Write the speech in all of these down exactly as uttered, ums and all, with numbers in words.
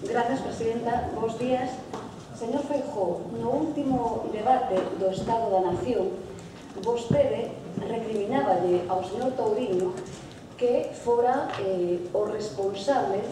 Grazas, presidenta. Bos días. Señor Feijóo, no último debate do Estado da Nación, vostede recrimináballe ao señor Touriño que fora eh, o responsable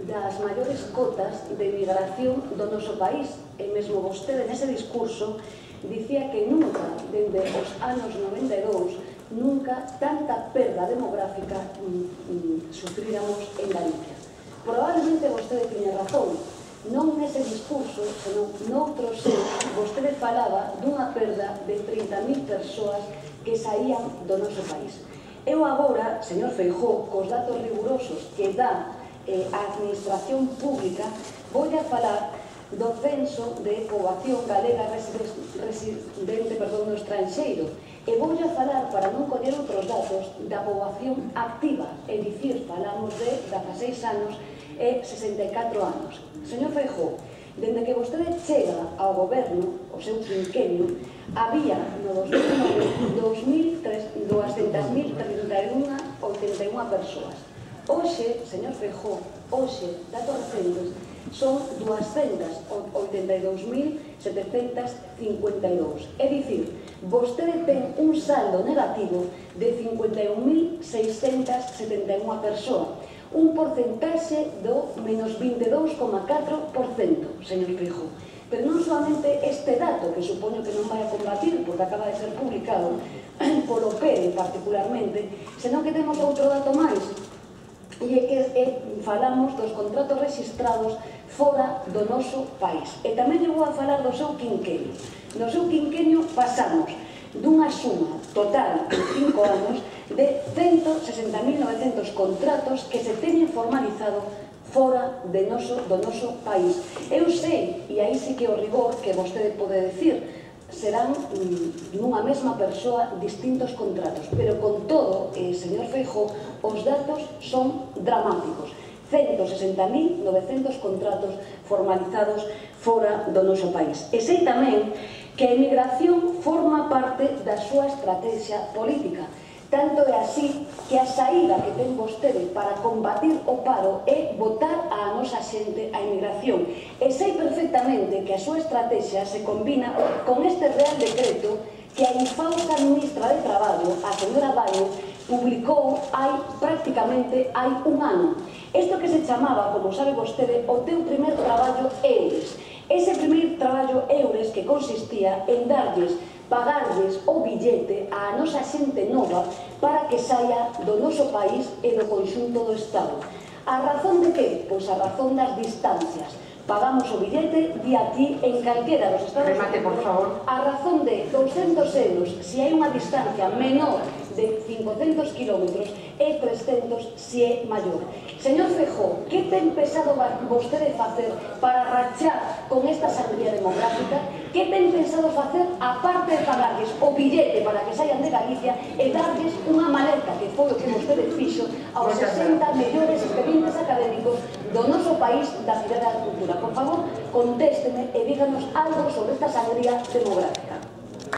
das maiores cotas de migración do noso país. E mesmo vostede, nese discurso, dicía que nunca, dende os anos noventa e dous, nunca tanta perda demográfica mm, mm, sufríramos en Galicia. Probablemente vostede tiña razón, non nese discurso, senón noutros seus, vostede falaba dunha perda de trinta mil persoas que saían do noso país. Eu agora, señor Feijóo, cos datos rigurosos que dá eh, a administración pública, vou a falar do censo de poboación galega residente perdón, no estranxeiro, e vou a falar, para non coller outros datos, da poboación activa, é dicir, falamos de dezaseis anos e sesenta e catro anos. Señor Feijóo, dende que vostede chega ao goberno, o seu quinquenio, había no dos mil nove dous mil duascentas mil trinta e unha oitenta e unha persoas. Hoxe, señor Feijóo, hoxe, datos recentes, son duascentas oitenta e dous mil setecentas cincuenta e dous. É dicir, vostede ten un saldo negativo de cincuenta e un mil seiscentas setenta e unha persoas, un porcentaxe do menos vinte e dous coma catro por cento, señor Feijóo. Pero non solamente este dato, que supoño que non vai a combatir, porque acaba de ser publicado polo P E R particularmente, senón que temos outro dato máis, e é que é, falamos dos contratos registrados fora do noso país. E tamén eu vou a falar do seu quinquenio. No seu quinquenio pasamos dunha suma total en cinco anos de cento sesenta mil novecentos contratos que se teñen formalizado fora de noso, do noso país. Eu sei, e aí sí que o rigor que vostede pode decir, serán mm, nunha mesma persoa distintos contratos, pero con todo, eh, señor Feijóo, os datos son dramáticos. cento sesenta mil novecentos contratos formalizados fora do noso país. E sei tamén que a emigración forma parte da súa estrategia política. Tanto é así que a saída que ten vostede para combatir o paro é botar a nosa xente a emigración. E sei perfectamente que a súa estrategia se combina con este Real Decreto que a infausta ministra de Traballo, a señora Baño, publicou hai prácticamente hai un ano. Isto que se chamaba, como sabe vostede, o teu primer traballo EURES. Ese primer traballo EURES que consistía en darlles, pagarlles o billete á nosa xente nova para que saia do noso país e do conxunto do Estado. A razón de que? Pois a razón das distancias. Pagamos o billete de aquí en calquera dos Estados Remate, por favor. A razón de douscentos euros, se hai unha distancia menor de cincocentos kilómetros, e trescentos se é maior. Señor Feijóo, que ten pensado vostede facer para rachar con esta sangría demográfica? Que ten pensado facer, aparte de pagarles o billete para que saian de Galicia, e darles unha maleta, que foi o que vostede fixo aos sesenta mellores expedientes académicos do noso país da Cidade da Cultura? Por favor, contésteme e díganos algo sobre esta sangría demográfica.